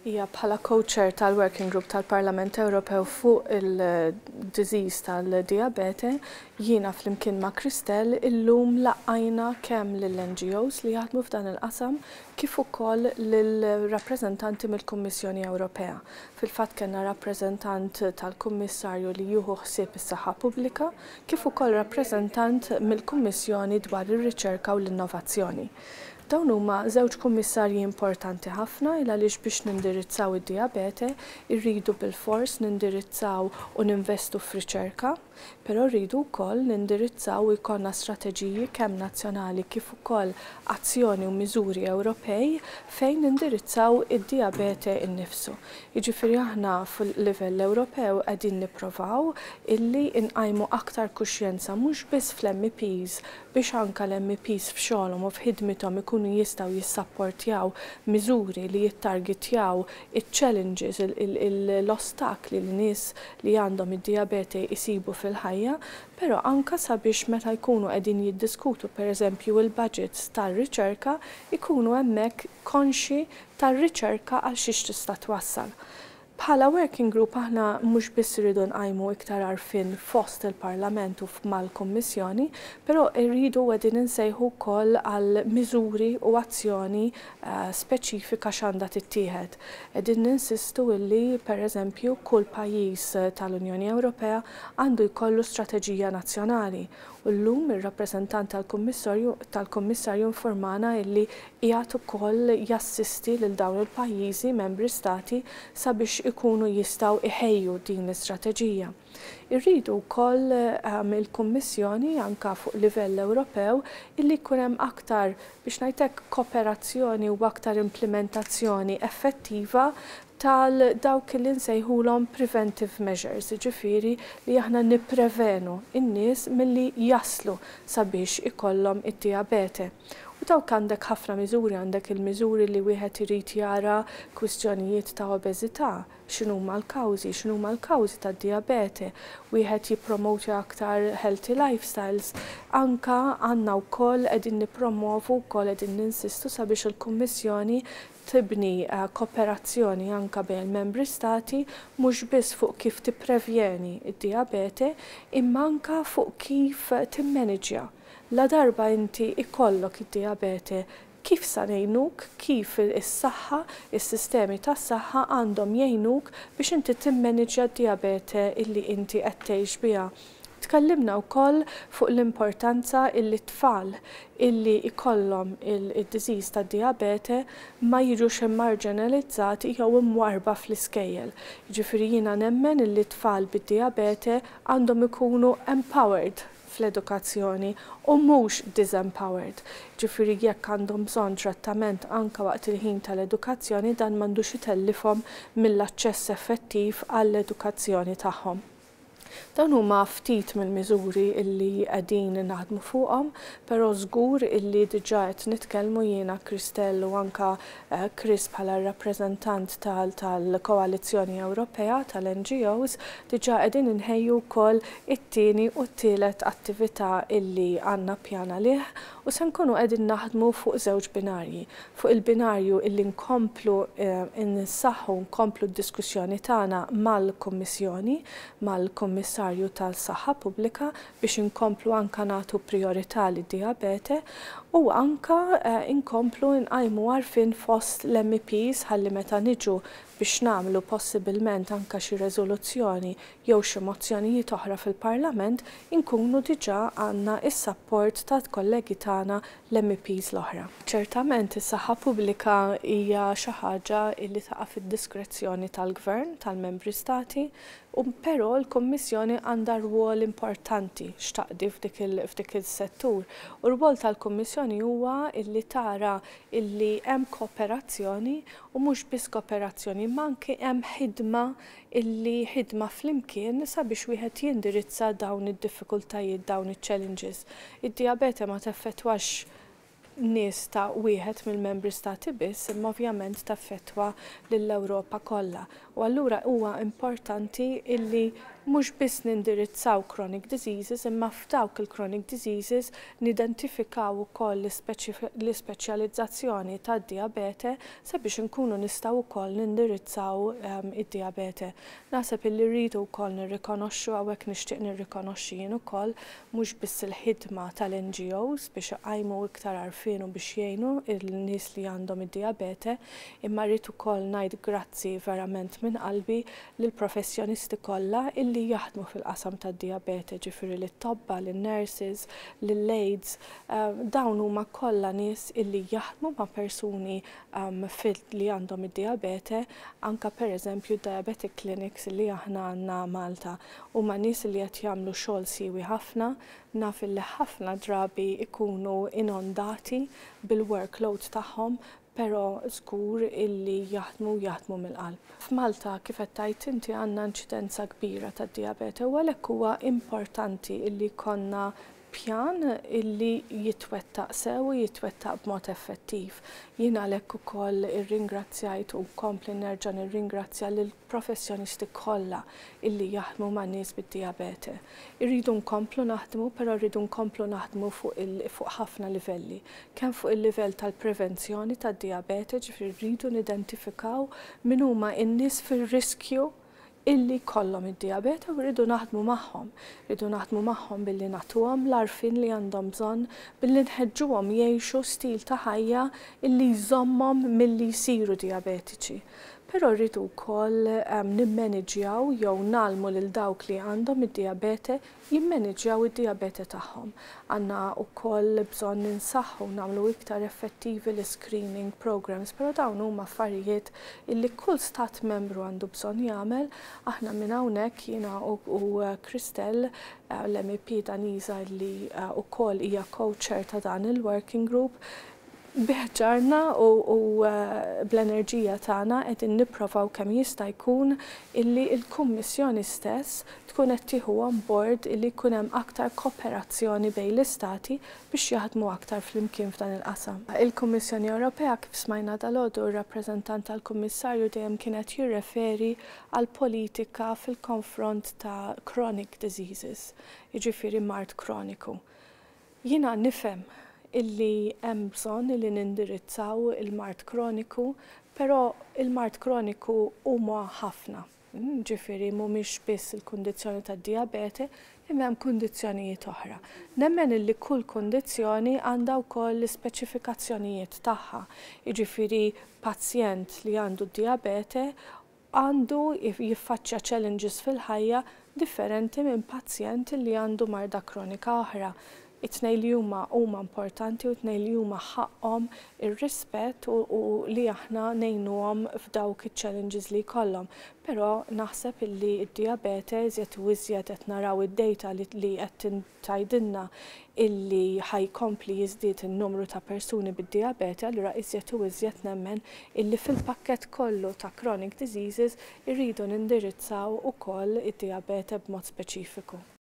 Hija bħala co-chair tal-Working Group tal-Parlament Ewropew fuq il-disease tal-diabete, jiena flimkien ma' Christelle illum laqajna kemm lill-NGOs li jaħdmu f'dan il-qasam kif ukoll lill-rappreżentanti mill-Kummissjoni Ewropea. Fil-fatt kellna rappreżentant tal-Kummissarju li jieħu ħsieb is-saħħa pubblika kif ukoll rappreżentant mill-Kummissjoni dwar ir-riċerka u l-innovazzjoni. Dawn huma żewġ kummissarji importanti ħafna il għaliex biex nindirizzaw id-dijabete rridu bilfors nindirizzaw u ninvestu f'riċerka, però rridu wkoll nindirizzaw u jkollna strateġiji kemm nazzjonali kif ukoll azzjoni u miżuri Ewropej fejn nindirizzaw id-dijabete innifsu. Jiġifieri aħna fil-livell Ewropew qegħdin nipprovaw illi nqajmu aktar kuxjenza mhux biss fl-MEPs biex anke l-MEPs f'xogħolhom u f'ħidmithom ikunu jistgħu jissapportjaw miżuri li jittargitjaw iċ-challenges, l-ostakli li nies li għandhom id-dijabete jsibu fil-ħajja, però anke sabiex meta jkunu qegħdin jiddiskutu pereżempju l-budgets tar-riċerka jkunu hemmhekk konxji tar-riċerka għal xiex tista' twassal. Bħala working group aħna mhux biss irridu nqajmu iktar għarfien fost il-Parlament u mal-Kummissjoni, però rridu qegħdin insejħu wkoll għal miżuri u azzjoni speċifika x'għandha tittieħed. Qegħdin ninsistu illi pereżempju kull pajjiż tal-Unjoni Ewropea għandu jkollu strateġija nazzjonali. U llum ir-rappreżentant tal-Kummissarju informana illi qiegħed ukoll jassisti lil dawn il-pajjiżi membri stati sabiex ikunu jistgħu iħejju din l-istrateġija. Irridu wkoll il-Kummissjoni anke fuq livell Ewropew illi jkun hemm aktar biex ngħid hekk kooperazzjoni u aktar implementazzjoni effettiva tal dawk li nsejħulhom preventive measures, jiġifieri li aħna nipprevenu n-nies milli jaslu sabiex ikollhom id-dijabete. U dawk għandek ħafna miżuri, għandek il-miżuri li wieħed irid jara kwistjonijiet ta' obeżità, x'inhuma l-kawżi, x'inhuma l-kawżi tad-dijabete, wieħed jippromotja aktar healthy lifestyles. Anka għandna wkoll qegħdin nippromovu wkoll qegħdin ninsistu sabiex il-Kummissjoni tibni kooperazzjoni anka bejn il-membri stati mhux biss fuq kif tipprevjeni d-dijabete imma anka fuq kif timmaniġja. La darba inti ikollok id-dijabete kif sa ngħinuk, kif is-saħħa, is-sistemi tas-saħħa għandhom jgħinuk biex inti timmaniġja d-dijabete illi inti qed tgħix biha. Tkellimna wkoll fuq l-importanza illi t-tfal illi jkollhom id-disease tad-dijabete ma jiġux immarġinalizzati jew imwarrba fl-iskejjel. Jiġifieri jiena nemmen illi t-tfal bid-dijabete għandhom ikunu empowered fl-edukazzjoni u mhux disempowered. Jiġifieri jekk għandhom bżonn trattament anke waqt il-ħin tal-edukazzjoni dan m'għandux itellifhom mill-aċċess effettiv għall-edukazzjoni tagħhom. Dawn huma ftit mill-miżuri illi qegħdin naħdmu fuqhom, però żgur illi diġà qed nitkellmu jiena Christelle u anka Chris bħala r-rappreżentant tal-Koalizzjoni Ewropea tal-NGOs diġà qegħdin inħejju wkoll it-tieni u t-tielet attività illi għandna pjan għalih u se nkunu qegħdin naħdmu fuq żewġ binarji. Fuq il-binarju illi nkomplu nsaħħu, nkomplu d-diskussjoni tagħna mal-Kummissjoni, mal-Kummissarju tas-Saħħa Pubblika biex inkomplu anka nagħtu prijorità lid-dijabete u anka nkomplu nqajmu għarfien fost l-MEPs ħalli meta niġu biex nagħmlu possibilment anka xi reżoluzzjoni jew xi mozzjonijiet oħra fil-Parlament inkunu diġà għandna s-sapport tal-kollegi tagħna l-MEPs l-oħra. Ċertament is-saħħa pubblika hija xi ħaġa li taqa' fid-diskrezzjoni tal-Gvern, tal-Membri Stati, u però l-Kummissjoni għandha rwol importanti x'taqdi f'dik is-settur. U r-rwol tal-Kummissjoni huwa illi tara illi hemm kooperazzjoni u mhux biss kooperazzjoni imma anke hemm ħidma illi ħidma flimkien sabiex wieħed jindirizza dawn id-diffikultajiet, dawn iċ-challenges. Id-dijabete ma teffettwax nies ta' wieħed mill-membri stati biss, imma ovvjament taffettwa lill-Ewropa kollha. U allura huwa importanti illi mhux biss nindirizzaw chronic diseases, imma f'dawk il-chronic diseases nidentifikaw ukoll l-ispeċjalizzazzjoni tad-diabete sabiex inkunu nistgħu wkoll nindirizzaw id-diabete. Naħseb illi rridu wkoll nirrikonoxxu, hawnhekk nixtieq nirrikonoxxi jien ukoll, mhux biss il-ħidma tal-NGOs biex iqajmu iktar għarfien u biex jgħinu l-nies li għandhom id-diabete, imma rrid ukoll ngħid grazzi verament minn qalbi lill-professjonisti kollha illi jaħdmu fil-qasam tad-diabete, ġifieri lit-tobba, lin-nurses, lill-aides. Dawn huma kollha nies illi jaħdmu ma' persuni li għandhom id-diabete, anka pereżempju diabetic clinics li aħna għandna Malta. Huma nies li qed jagħmlu xogħol siewi ħafna, naf illi ħafna drabi ikunu inondati bil-workload tagħhom, però żgur illi jaħdmu, jaħdmu mill-qalb. F'Malta, kif qed tgħid inti, għandna inċidenza kbira tad-diabete u għalhekk huwa importanti illi jkollna pjan illi jitwettaq sew u jitwettaq b'mod effettiv. Jien għalhekk ukoll irringrazzjajt u nkompli nerġa' nirringrazzja lill-professjonisti kollha illi jaħdmu ma' nies bid-diabete. Irridu nkomplu naħdmu, però rridu nkomplu naħdmu fuq ħafna livelli. Kemm fuq il-livell tal-prevenzjoni tad-diabete, ġifieri rridu nidentifikaw min huma n-nies fir-riskju illi jkollhom id-diabete u rridu naħdmu magħhom. Rridu naħdmu magħhom billi nagħtuhom l-għarfien li għandhom bżonn, billi nħeġġuhom jgħixu stil ta' ħajja illi jżommhom milli jsiru diabetiċi. Però rridu wkoll nimmaniġjaw jew ngħallmu lil dawk li għandhom id-diabete jimmaniġjaw id-diabete tagħhom. Għandna wkoll bżonn ninsaħħu, nagħmlu iktar effettivi l-screening programs, però dawn huma affarijiet illi kull stat membru għandu bżonn jagħmel. Aħna minn hawnhekk, jiena u Christel, l-MEP Daniża li wkoll hija co-chair ta' dan il-working group, bi ħġarna u bl-enerġija tagħna qegħdin nipprovaw kemm jista' jkun illi l-Kummissjoni stess tkun qed tieħu on board illi jkun hemm aktar kooperazzjoni bejn l-istati biex jaħdmu aktar flimkien f'dan il-qasam. Il-Kummissjoni Ewropea, kif smajna dalgħodu, ir-rappreżentant tal-Kummissarju dejjem kienet jirreferi għal politika fil-konfront ta' chronic diseases, jiġifieri mard kroniku. Jiena nifhem illi hemm bżonn illi nindirizzaw il-mard kroniku, però il-mard kroniku huma ħafna. Ġifieri mhumiex biss il-kundizzjoni tad-diabete, imma hemm kundizzjonijiet oħra. Nemmen illi kull kundizzjoni għandha wkoll l-ispeċifikazzjonijiet tagħha. Jiġifieri pazjent li għandu d-diabete għandu jiffaċċja challenges fil-ħajja differenti minn pazjent li għandu marda kronika oħra. It-tnejn li huma huma importanti u t-tnejn li huma ħaqhom ir-rispett u li aħna ngħinuhom f'dawk iċ-challenges li jkollhom. Però naħseb illi d-diabete iżjed u iżjed qed naraw id-data li qed tgħidilna illi ħa jkompli jiżdied in-numru ta' persuni bid-diabete, allura iżjed u iżjed nemmen illi fil-pakkett kollu ta' chronic diseases irridu nindirizzaw ukoll id-diabete b'mod speċifiku.